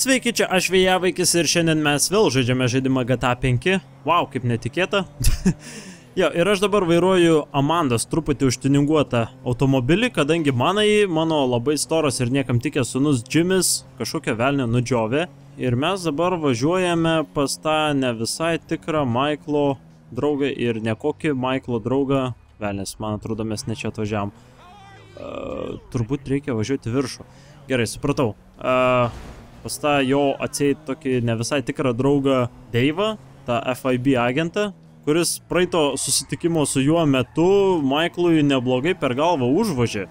Sveiki, čia aš Vėjavaikis ir šiandien mes vėl žaidžiame žaidimą GTA 5. Wow, kaip netikėta. Jo, ir aš dabar vairuoju Amandos truputį užtininguotą automobilį, kadangi mano labai storas ir niekam tikęs sūnus Jimis kažkokią velnę nudžiovė. Ir mes dabar važiuojame pas tą ne visai tikrą Maiklo draugą ir ne kokį Maiklo draugą. Velnės, man atrodo, mes ne čia atvažiavam. Turbūt reikia važiuoti viršų. Gerai, supratau. Pas tą jo atseit tokį ne visai tikrą draugą Dave'ą, tą FIB agentą, kuris praeito susitikimo su juo metu Maiklui neblogai per galvą užvožė.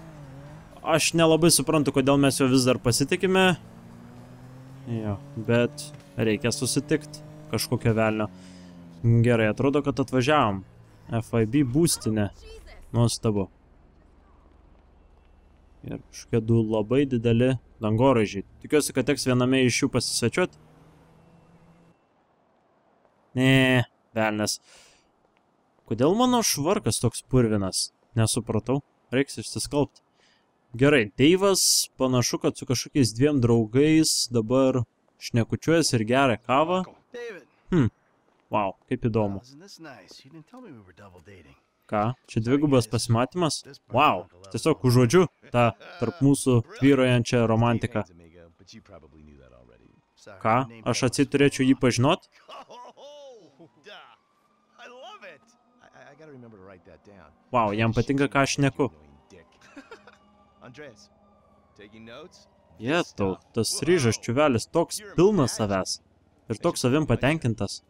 Aš nelabai suprantu, kodėl mes jo vis dar pasitikime. Jo, bet reikia susitikti kažkokio velnio. Gerai, atrodo, kad atvažiavom. FIB būstinė. Nuostabu. Ir kažkokie du labai dideli dangoraižiai. Tikiuosi, kad teks viename iš jų pasisvečiuoti. Ne, velnės. Kodėl mano švarkas toks purvinas? Nesupratau. Reiks išsiskalbti. Gerai, Dave'as panašu, kad su kažkokiais dviem draugais dabar šnekučiuojas ir geria kavą. Wow, kaip įdomu. Ką? Čia dvigubas pasimatymas? Wow, tiesiog užuodžiu tą tarp mūsų tvyrojančią romantiką. Ką? Aš atseit turėčiau jį pažinot? Wow, jam patinka, ką aš šneku. Jetau, tas ryžas čiuvelis toks pilnas savęs. Ir toks savim patenkintas.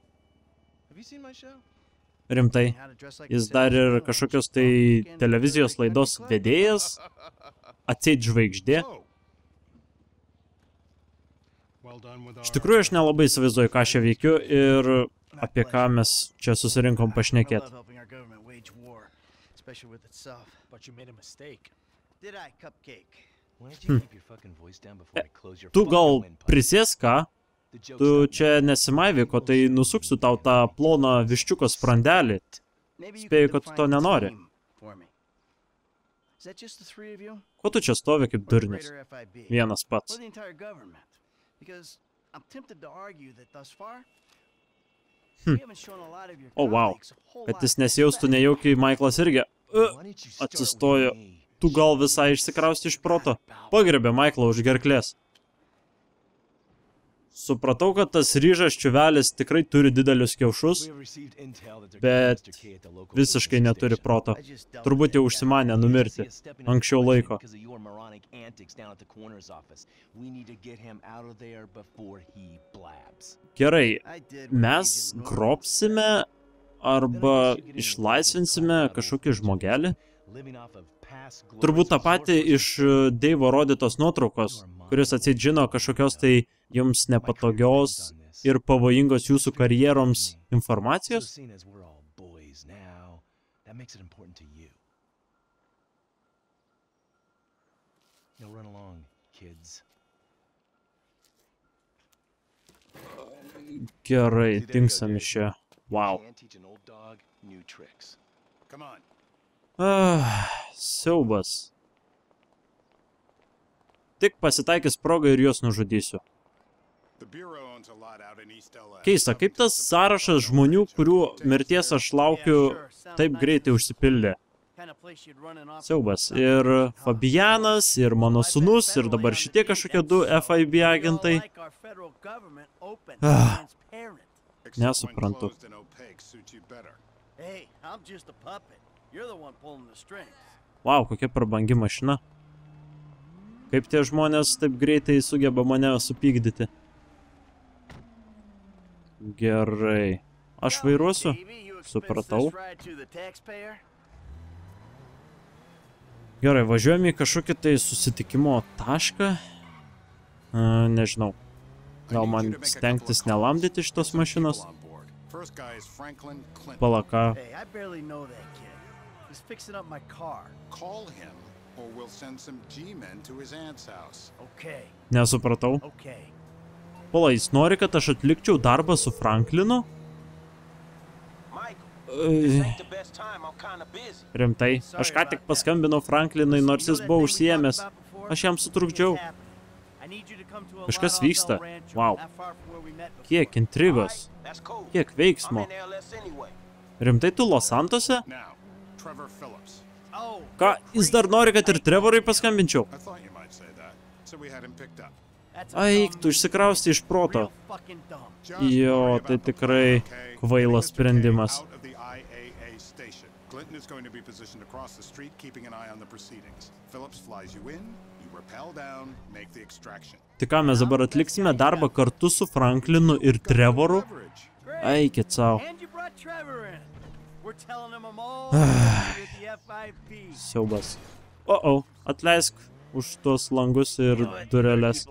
Rimtai, jis dar ir kažkokios tai televizijos laidos vedėjas, atseit žvaigždė. Iš tikrųjų, aš nelabai įsivaizduoju, ką aš čia veikiu ir apie ką mes čia susirinkom pašnekėti. Tu gal prisės ką? Tu čia nesimaivi, ko tai nusuksiu tau tą ploną viščiuko sprandelį. Spėju, kad tu to nenori. Ko tu čia stovi kaip durnius? Vienas pats. O, wow. Kad jis nesijaustų nejaukiai, Maiklas irgi atsistojo. Tu gal visai išsikrausti iš proto? Pagriebė Maiklą už gerklės. Supratau, kad tas ryžas čiuvelis tikrai turi didelius kiaušus, bet visiškai neturi proto. Turbūt jau užsimanė numirti anksčiau laiko. Gerai, mes grobsime arba išlaisvinsime kažkokį žmogelį? Turbūt tą patį iš Dave'o rodytos nuotraukos, kuris atseit žino kažkokios tai jums nepatogios ir pavojingos jūsų karjeroms informacijos? Gerai, dingsam iš čia. Wow. Siaubas. Tik pasitaikys progą ir juos nužudysiu. Keista, kaip tas sąrašas žmonių, kurių mirties aš laukiu, taip greitai užsipildė. Siaubas. Ir Fabianas, ir mano sūnus, ir dabar šitie kažkokie du FIB agentai. Nesuprantu. Wow, kokia prabangi mašina. Kaip tie žmonės taip greitai sugeba mane supykdyti. Gerai. Aš vairuosiu? Supratau. Gerai, važiuojame į kažkokį tai susitikimo tašką. Nežinau. Gal man stengtis nelamdyti šitos mašinos? Palaka. Nesupratau. Pala, jis nori, kad aš atlikčiau darbą su Franklinu? Rimtai, aš ką tik paskambinau Franklinui, nors jis buvo užsiėmęs. Aš jam sutrukdžiau. Kažkas vyksta. Wow. Kiek intrigos. Kiek veiksmo. Rimtai tu Los Santose? Ką, jis dar nori, kad ir Trevorui paskambinčiau? Aik, tu išsikrausti iš proto. Jo, tai tikrai kvailas sprendimas. Clinton is going to be positioned across the street, keeping an eye on the proceedings. Phillips flies you in, you rappel down, make the extraction. Tai ką, mes dabar atliksime darbą kartu su Franklinu ir Trevoru? Eikit savo. Siaubas. Atleisk už tuos langus ir dureles.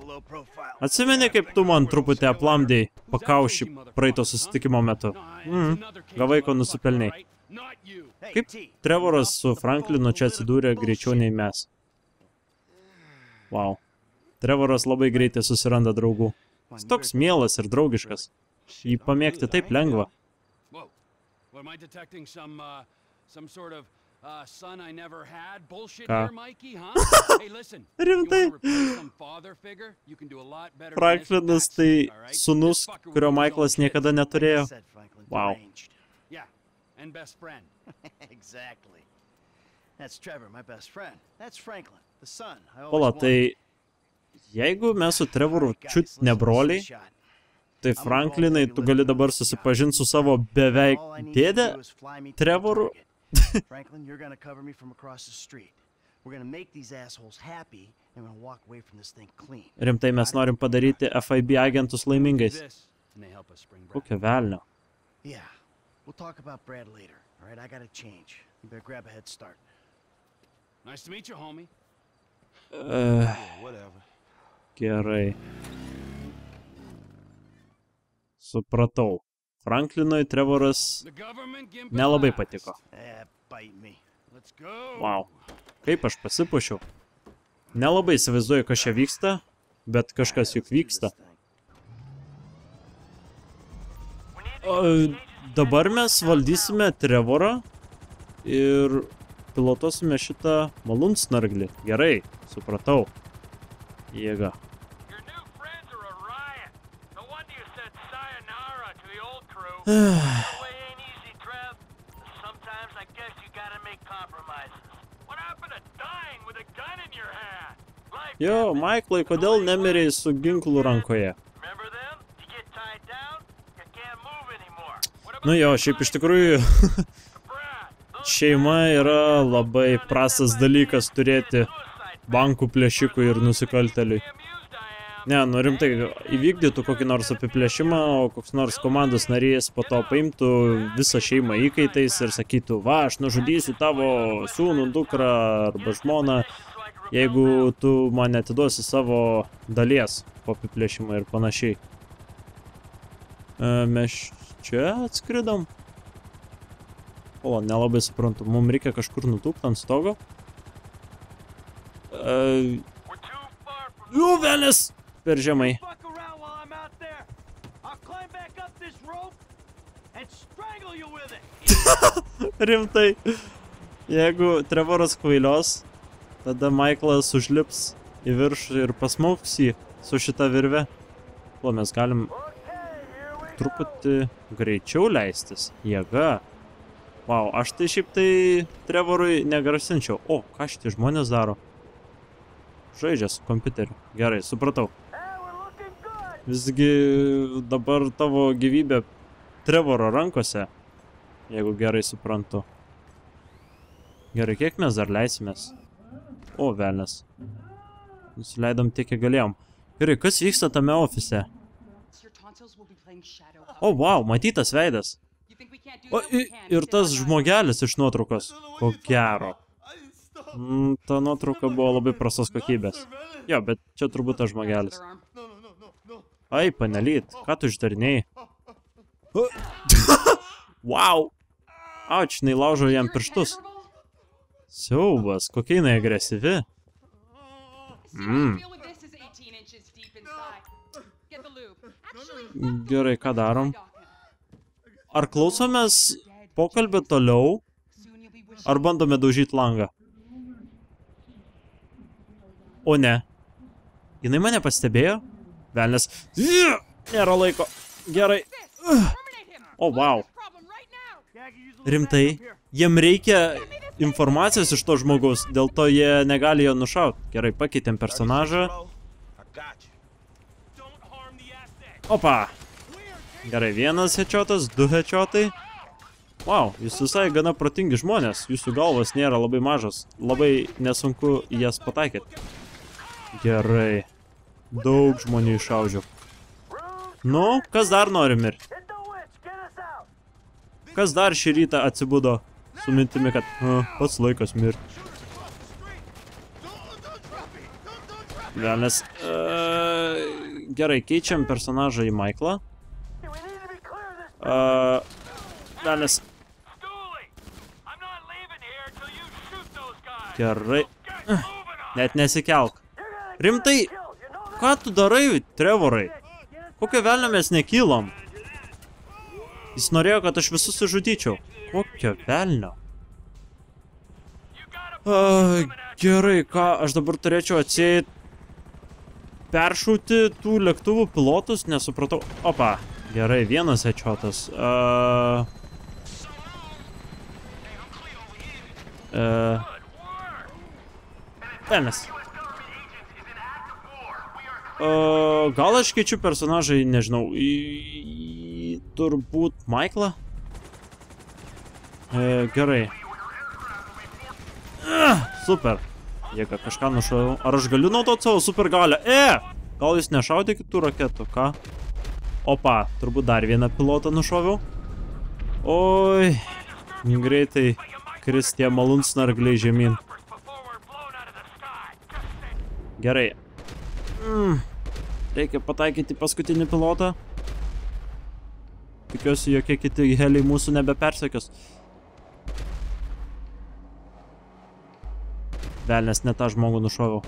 Atsimeni, kaip tu man truputį aplamdėjai pakaušį praeito susitikimo metu? Gavai, ko nusipelniai. Kaip Trevoras su Franklinu čia atsidūrė greičiau nei mes? Wow. Trevoras labai greitai susiranda draugų. Jis toks mielas ir draugiškas. Jį pamėgti taip lengva. Ką? Rimtai? Franklinas tai sūnus, kurio Michaelas niekada neturėjo. Wow. And best friend. Exactly. That's Trevor, my best friend. That's Franklin, the son. Ola, tai jeigu mes su Trevoru čiut ne broliai, tai Franklinai, tu gali dabar susipažinti su savo beveik dėdę Trevoru. Franklin, you're gonna cover me from across the street. We're gonna make these assholes happy and we're gonna walk away from this thing clean. Rimtai mes norim padaryti FIB agentus laimingais. Kokia velnio. Yeah. We'll talk about Brad later. All right, I gotta change. You better grab a head start. Nice to meet you, homie. Whatever. Gerai. Supratau. Franklinui Trevoras nelabai patiko. Wow. Kaip aš pasipuošiau. Nelabai įsivaizduoju, kas čia vyksta, bet kažkas juk vyksta. Dabar mes valdysime Trevorą ir pilotuosime šitą malūnsnarglį. Gerai, supratau. Jėga. Jo, Michaelai, kodėl nemirėjai su ginklu rankoje? Nu jo, šiaip iš tikrųjų šeima yra labai prastas dalykas turėti bankų plėšikui ir nusikalteliui. Ne, nu rimtai, įvykdytų kokį nors apiplėšimą, o koks nors komandos narys po to paimtų visą šeimą įkaitais ir sakytų, va, aš nužudysiu tavo sūnų, dukrą arba žmoną, jeigu tu man atiduosi savo dalies po apiplėšimą ir panašiai. Mes čia atskridom? O, nelabai suprantu. Mums reikia kažkur nutūpti ant stogo? Jų, velės! Per žemai. Rimtai. Jeigu Trevoras kvailios, tada Michaelas užlips į viršų ir pasmauks jį su šita virve. O, mes galim truputį greičiau leistis. Jėga. Wow, aš tai šiaip tai Trevorui negrasinčiau. O, ką šitie žmonės daro? Žaidžia su kompiuteriu. Gerai, supratau. Visgi dabar tavo gyvybė Trevoro rankose, jeigu gerai suprantu. Gerai, kiek mes dar leisimės? O, velnes. Nusileidom tiek, kiek galėjom. Gerai, kas vyksta tame ofise? O, wow, matytas veidas. O, ir tas žmogelis iš nuotraukos. Ko gero. Ta nuotrauka buvo labai prastos kokybės. Jo, bet čia turbūt tas žmogelis. Ai, panelyt, ką tu išdarinėjai? Wow. Auč, jinai laužo jam pirštus. Siaubas, kokia jinai agresyvi. Gerai, ką darom? Ar klausomės pokalbį toliau, ar bandome daužyti langą? O ne. Jinai mane pastebėjo? Velnes. Nėra laiko. Gerai. O, wow. Rimtai. Jiem reikia informacijos iš to žmogaus, dėl to jie negali jo nušauti. Gerai, pakeitėm personažą. Opa. Gerai, vienas headshot'as, 2 headshot'ai. Wow, jūs visai gana protingi žmonės. Jūsų galvas nėra labai mažas. Labai nesunku jas pataikyti. Gerai. Daug žmonių iššaudžiau. Nu, kas dar nori mirti? Kas dar šį rytą atsibudo su mintimi, kad pats laikas mirti? Velnes. Gerai, keičiam personažą į Michaelą. Velnes. Gerai. Net nesikelk. Rimtai, ką tu darai, Trevorai? Kokio velnio mes nekylom? Jis norėjo, kad aš visus sužudyčiau. Kokio velnio? Gerai, ką aš dabar turėčiau atseit peršauti tų lėktuvų pilotus? Nesupratau. Opa, gerai, vienas headshot'as. Velnias. Gal aš keičiu personažą, nežinau, į turbūt Michaelą? Gerai. Super. Jėga, kažką nušauju. Ar aš galiu naudoti savo supergalę? Gal jūs nešaudė kitų raketų, ką? Opa, turbūt dar vieną pilotą nušoviau. Oi, greitai kris tie malūnsnargliai žemyn. Gerai. Reikia pataikyti paskutinį pilotą. Tikiuosi, jokie kiti heliai mūsų nebepersekios. Velnes, ne tą žmogų nušoviau.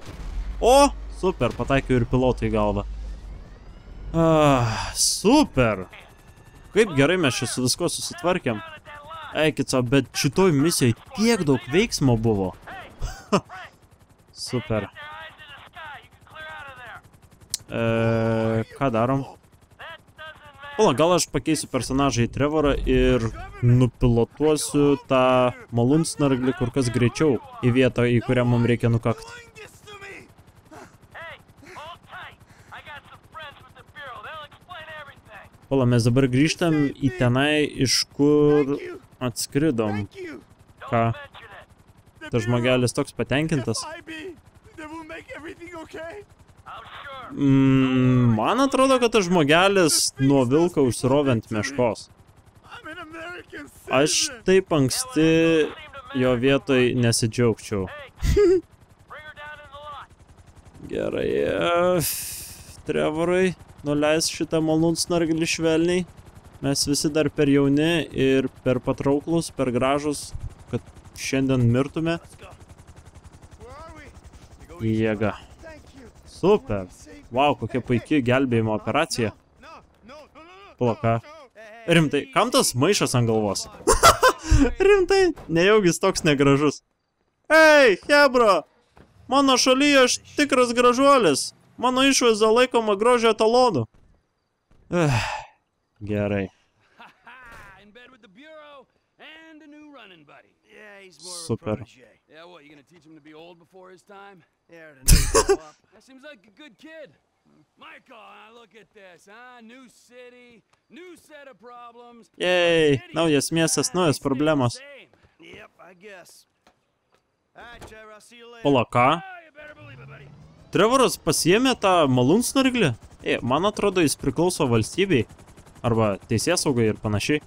O, super, pataikiau ir pilotą į galvą. Super. Kaip gerai mes čia su visko susitvarkėm. Eikit savo, bet šitoj misijoj tiek daug veiksmo buvo. Super. Ką darom? Pala, gal aš pakeisiu personažą į Trevorą ir nupilotuosiu tą malūnsnarglį kur kas greičiau į vietą, į kurią mums reikia nukakti. Pala, mes dabar grįžtam į tenai, iš kur atskridom. Ką? Tas žmogelis toks patenkintas. Man atrodo, kad tas žmogelis nuo vilko užsirovė ant meškos. Aš taip anksti jo vietoj nesidžiaugčiau. Gerai. Trevorai, nuleis šitą malūnsnarglį švelniai. Mes visi dar per jauni ir per patrauklus, per gražus, kad šiandien mirtume. Jėga. Super. Wow, kokia puikia gelbėjimo operacija. Plaka. Rimtai, kam tas maišas ant galvos? Rimtai, nejaugis toks negražus. Ei, hebra! Mano šalyje aš tikras gražuolis. Mano išvaizda laikoma grožio etalonu. Gerai. Super. Yeah, what, you gonna teach him to be old before his time? Yeah, to grow up. That seems like a good kid. Michael, look at this, huh? New city, new set of problems. Yay, naujas miestas, naujas problemos. Yep, I guess. Alright, Trevor, I'll see you later. Pala, ką? You better believe it, buddy. Trevoras pasiėmė tą malūnsnarglį? Man atrodo, jis priklauso valstybei. Arba teisėsaugai ir panašiai.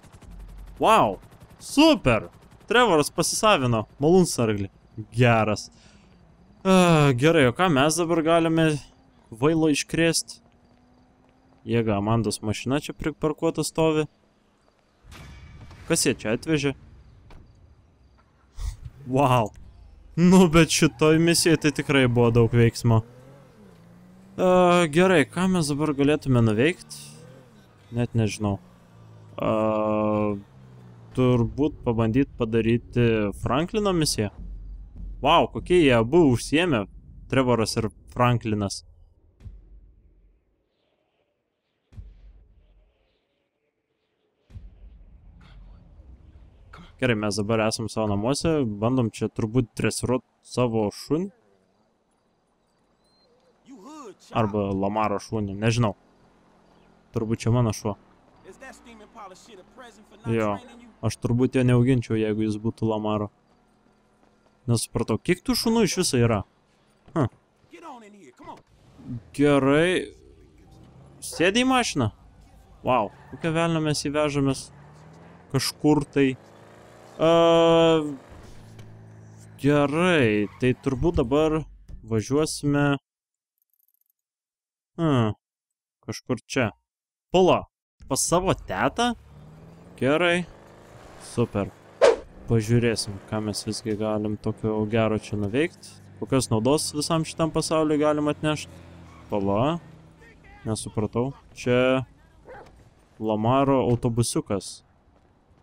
Wow, super! Trevoras pasisavino malūnsnarglį. Geras. Gerai, o ką mes dabar galime vailo iškrėsti? Jėga, Amandos mašina čia priparkuota stovi. Kas jie čia atvežė? Wow. Nu, bet šitoj misijai tai tikrai buvo daug veiksmo. Gerai, ką mes dabar galėtume nuveikti? Net nežinau. Turbūt pabandyti padaryti Franklino misiją. Wow, kokie jie abu užsiėmė, Trevoras ir Franklinas. Gerai, mes dabar esam savo namuose, bandom čia turbūt dresiruoti savo šunį. Arba Lamaro šunį, nežinau. Turbūt čia mano šuo. Jo, aš turbūt jo neauginčiau, jeigu jis būtų Lamaro. Nesupratau, kiek tų šunų iš viso yra? Gerai. Sėdė į mašiną? Wow, kokią velnę mes įvežamės kažkur tai. Gerai, tai turbūt dabar važiuosime... Kažkur čia. Pala, pas savo tetą? Gerai. Super. Pažiūrėsim, ką mes visgi galim tokio gero čia nuveikti. Kokios naudos visam šitam pasauliu galim atnešti. Pala. Nesupratau. Čia Lamaro autobusiukas.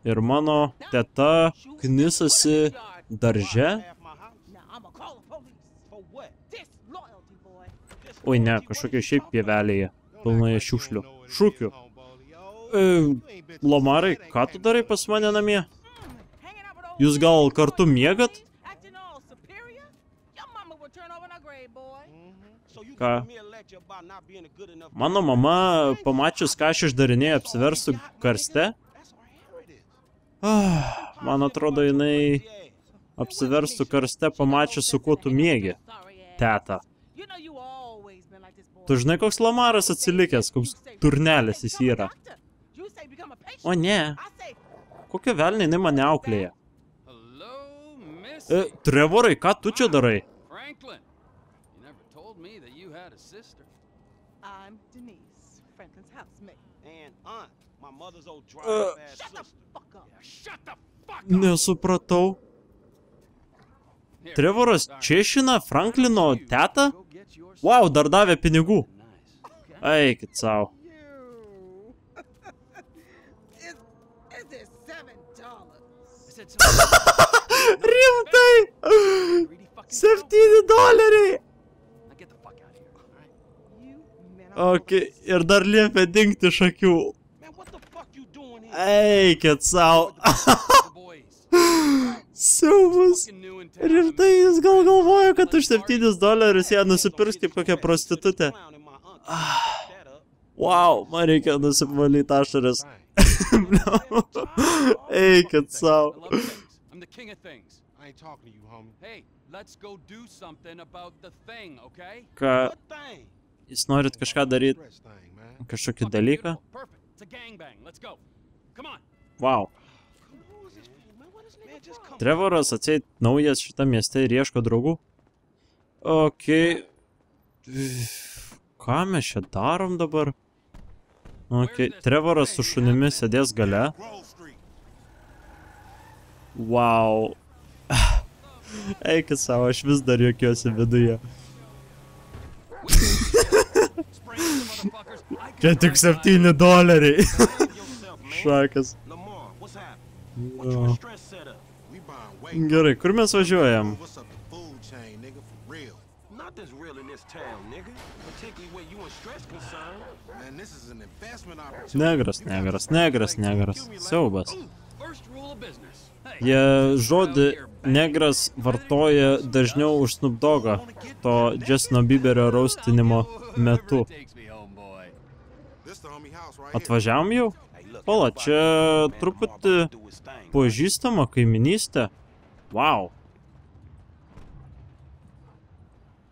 Ir mano teta knisasi darže. Oi ne, kažkokia šiaip pievelėje. Pilnoje šiukšlių. Šūkių. Lamarai, ką tu darai pas mane namie? Jūs gal kartu miegat? Ką? Mano mama, pamačius, ką aš išdarinėjau, apsiverstų karste? Man atrodo, jinai apsiverstų karste, pamačius, su kuo tu miegi, teta. Tu žinai, koks Lamaras atsilikęs, koks turnelis jis yra. O ne. Kokia velnė jinai mane auklėja? Trevorai, ką tu čia darai? Nesupratau. Trevoras češina Franklino tetą? Wow, dar davė pinigų. Eikit savo. Rimtai! $7. Ok, ir dar liepia dingti iš akių. Eikit savo. Siaubus. Rimtai, jis gal galvoja, kad už $7 ją nusipirks kaip kokią prostitutę. Wow, man reikia nusivalyti ašaras. Eikit savo. Ką? Jūs norit kažką daryti? Kažkokį dalyką? Wow. Trevoras atseit naujas šitą mieste ir ieško draugų. Ok. Ką mes čia darom dabar? Ok, Trevoras su šunimi sėdės gale. Wow. Eikit savo, aš vis dar juokiuosi viduje. Čia tik $7. Šakas. Gerai, kur mes važiuojam? Negras. Siaubas. Jie žodį negras vartoja dažniau už Snoop Doggą, to Justino Bieberio raustinimo metu. Atvažiavom jau? Pala, čia truputį pažįstama kaiminystė. Wow.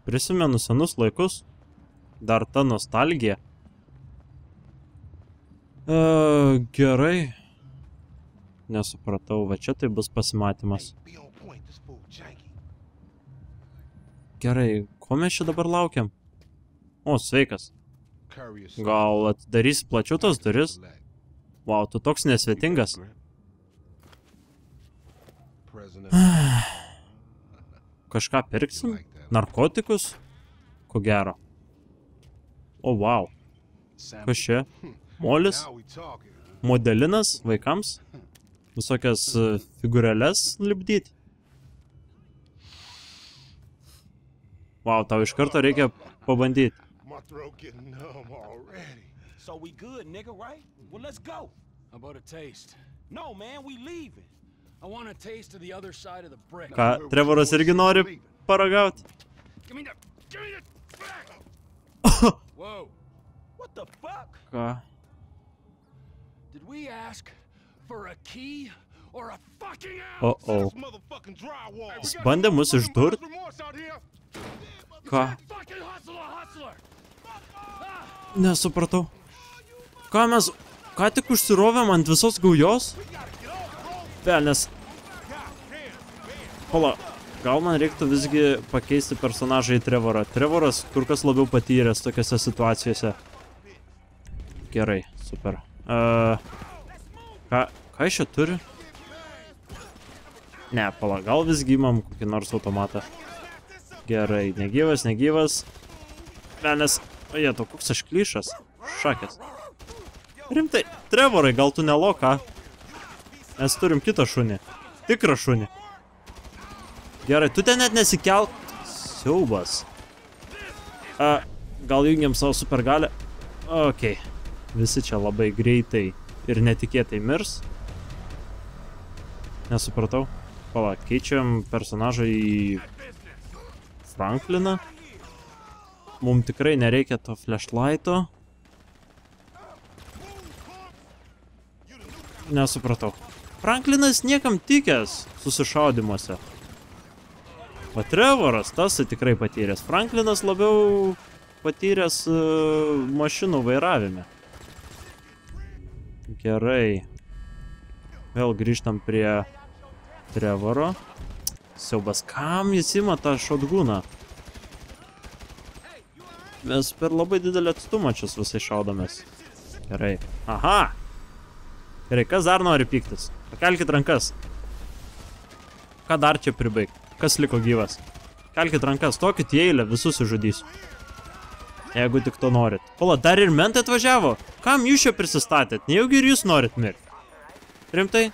Prisimenu senus laikus. Dar ta nostalgija. Gerai. Nesupratau, va čia tai bus pasimatymas. Gerai, ko mes čia dabar laukiam? O, sveikas. Gal atidarysi plačiau tas duris? Wow, tu toks nesvetingas. Kažką pirksim? Narkotikus? Ko gero. O, wow. Kas čia? Molis? Modelinas vaikams? Visokias figūrėles lipdyti? Wow, tau iš karto reikia pabandyti. So we good, nigga, right? Well, let's go. How about a taste? No, man, we leaving. I want a taste of the other side of the brick. Ką, Trevoras irgi nori paragauti? Give me the back. Whoa. What the fuck? Ką? Did we ask for a key or a fucking O. Jis bandė mus išdurt? Ką? fucking hustler. Nesupratau. Ką mes... Ką tik užsirovėm ant visos gaujos? Velnes. Pala, gal man reiktų visgi pakeisti personažą į Trevorą. Trevoras kur kas labiau patyręs tokiose situacijose. Gerai, super. Ką iš čia turi? Ne, pala, gal visgi imam kokį nors automatą. Gerai, negyvas. Velnes. Oje, to koks aš klišas. Šakės. Rimtai, Trevorai, gal tu neloka? Mes turim kitą šunį. Tikrą šunį. Gerai, tu ten net nesikelk. Siaubas. Gal jungiam savo supergalę? Okei. Visi čia labai greitai ir netikėtai mirs. Nesupratau. Pala, keičiam personažą į Frankliną. Mums tikrai nereikia to flashlighto. Nesupratau. Franklinas niekam tikęs susišaudimuose. O Trevoras, tas tikrai patyręs. Franklinas labiau patyręs mašinų vairavime. Gerai. Vėl grįžtam prie Trevoro. Siaubas, kam jis ima tą šotguną? Mes per labai didelį atstumą čia visai šaudomės. Gerai. Aha! Gerai, kas dar nori pyktis? Pakelkit rankas. Ką dar čia pribaigt? Kas liko gyvas? Kelkit rankas, tokit į eilę, visus sužudysiu. Jeigu tik to norit. Pala, dar ir mentai atvažiavo? Kam jūs čia prisistatėt? Nejaugi ir jūs norit mirti? Rimtai?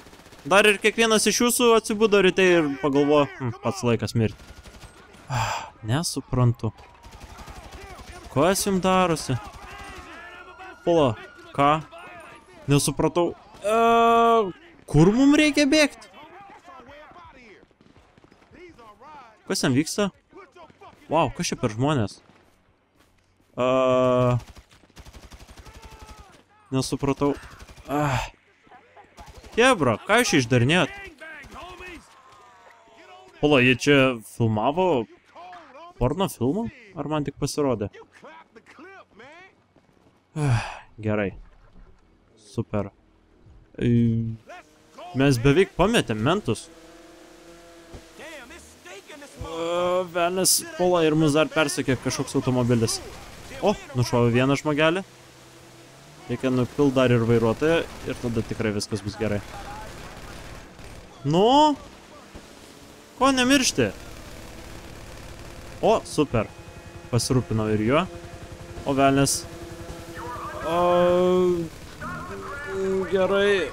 Dar ir kiekvienas iš jūsų atsibudo ryte ir pagalvojo, pats laikas mirti. Nesuprantu. Kas jums darosi? Pala, ką? Nesupratau. Kur mums reikia bėgti? Kas ten vyksta? Wow, kas čia per žmonės? Nesupratau. Hebra, ką jūs čia išdarinėjot? Pala, jie čia filmavo porno filmą? Ar man tik pasirodė? Gerai. Super. Mes beveik pametėm mentus. Velnes, Pala, ir mus dar persekė kažkoks automobilis. O, nušovė vieną žmogelį. Reikia nupilt dar ir vairuotoją ir tada tikrai viskas bus gerai. Nu? Ko nemiršti? O, super. Pasirūpinau ir juo. O, velnes. Gerai.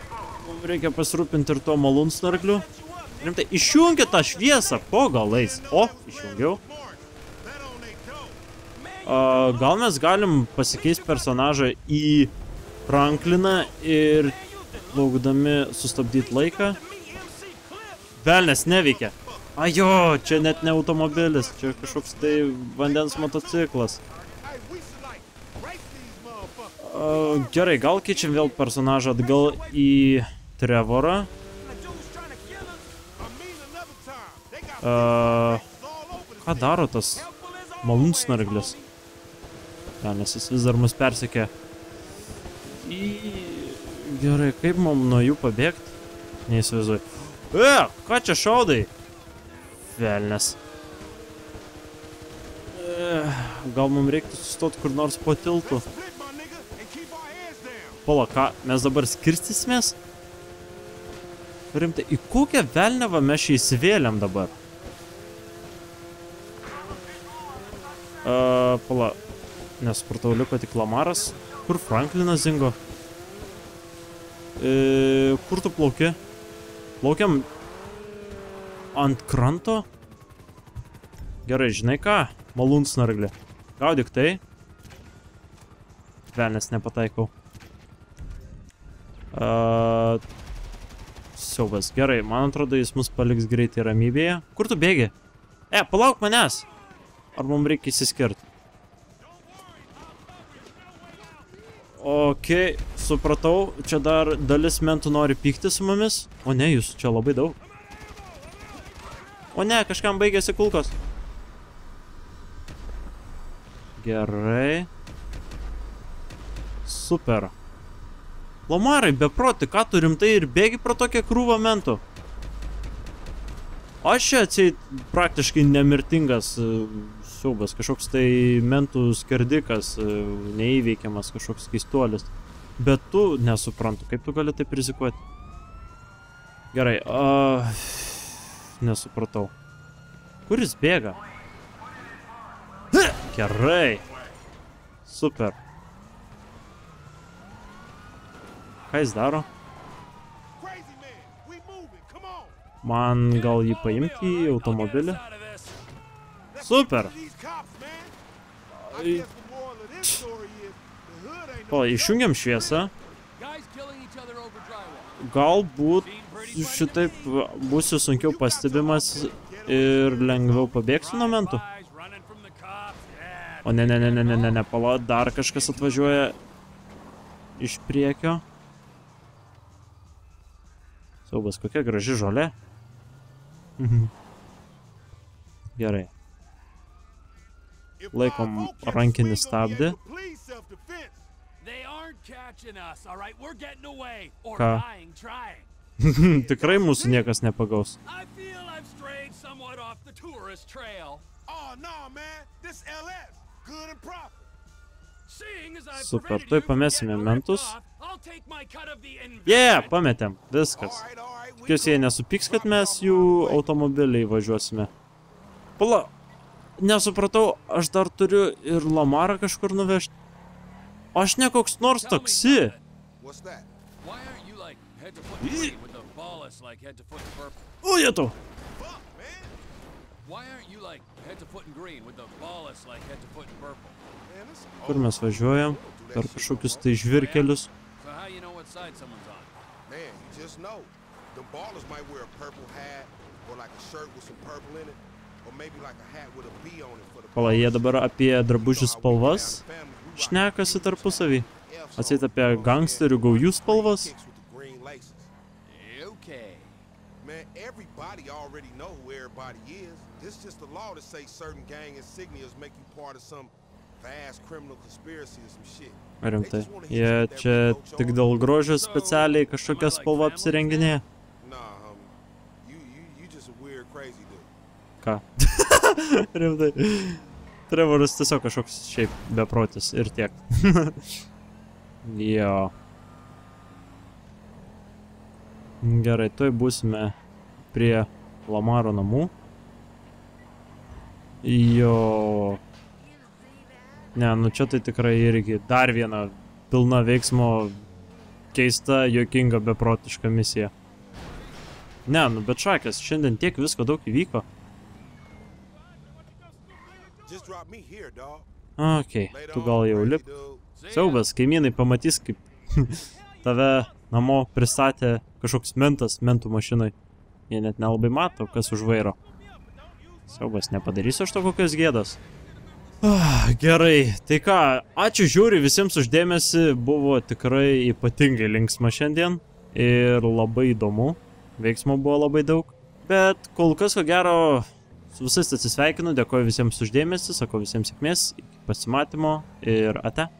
Reikia pasirūpinti ir to malūnsnarkliu. Rimtai, išjungia tą šviesą, po galais. O, išjungiau. Gal mes galim pasikeisti personažą į Frankliną ir laukdami sustabdyti laiką. Velnes neveikia. Ajo, čia net ne automobilis, čia kažkoks tai vandens motociklas. Gerai, gal keičiam vėl personažą atgal į Trevorą. Ką daro tas malūnsnarglis? Nes jis vis dar mus persekė. Gerai, kaip mums nuo jų pabėgti? Neįsivaizduoju. Ką čia šaudai? Velnes. Gal mums reiktų sustoti kur nors po tiltu? Pala, ką? Mes dabar skirstysimės? Rimtai, į kokią velnevą mes čia įsivėlėm dabar? Pala, nesupratau, liko tik Lamaras. Kur Franklinas dingo? Kur tu plauki? Plaukiam ant kranto? Gerai, žinai ką? Malūnsnarglį. Gaudyk tai. Velnes nepataikau. Siaubas. Gerai, man atrodo, jis mus paliks greitai ramybėje. Kur tu bėgi? Palauk manęs. Ar mums reikia įsiskirti? Ok, supratau. Čia dar dalis mentų nori pykti su mumis. O ne, jūs čia labai daug. O ne, kažkam baigėsi kulkos. Gerai. Super. Lamarai, beproti, ką tu rimtai ir bėgi pro tokią krūvą mentų? Aš čia atseit praktiškai nemirtingas siaubas, kažkoks tai mentų skerdikas, neįveikiamas kažkoks keistuolis. Bet tu nesuprantu, kaip tu gali taip rizikuoti. Gerai, nesupratau. Kur jis bėga? Gerai. Super. Ką jis daro? Man gal jį paimti į automobilį? Super. O, išjungiam šviesą. Galbūt šitaip būsiu sunkiau pastebimas ir lengviau pabėgsiu nuo mentų. O ne, pala, dar kažkas atvažiuoja iš priekio. Siaubas, kokia graži žolė. Gerai. Laikom rankinį stabdį. Ką? Tikrai mūsų niekas nepagaus. Super, tuoj pamesime mentus. Pametėm, viskas. Tikiuosi, jie nesupyks, kad mes jų automobiliai važiuosime. Pala, nesupratau, aš dar turiu ir Lamarą kažkur nuvežti. Aš ne koks nors taksi. O, jėtų. Kur mes važiuojam? Per kažkokius tai žvirkelius. Pala, jie dabar apie drabužių spalvas šnekasi tarpusavį. Atseit apie gangsterių gaujų spalvas. Rimtai, jie čia tik dėl grožio specialiai kažkokią spalvą apsirenginėja. Ką? Rimtai. Trevoras tiesiog kažkoks šiaip beprotis ir tiek. Jo. Gerai, tuoj būsime prie Lamaro namų. Jo. Ne, nu čia tai tikrai irgi dar viena pilna veiksmo keista, juokinga, beprotiška misija. Ne, nu bet šakės, šiandien tiek visko daug įvyko. Okei, tu gal jau lip. Siaubas, kaimynai pamatys, kaip tave namo pristatė kažkoks mentas mentų mašinai. Jie net nelabai mato, kas už vairo. Siaubas, nepadarysiu aš to kokios gėdos. Gerai, tai ką, ačiū žiūri visiems už dėmesį, buvo tikrai ypatingai linksma šiandien ir labai įdomu, veiksmo buvo labai daug, bet kol kas, ko gero, su visais atsisveikinu, dėkoju visiems už dėmesį, sakau visiems sėkmės, iki pasimatymo ir ate.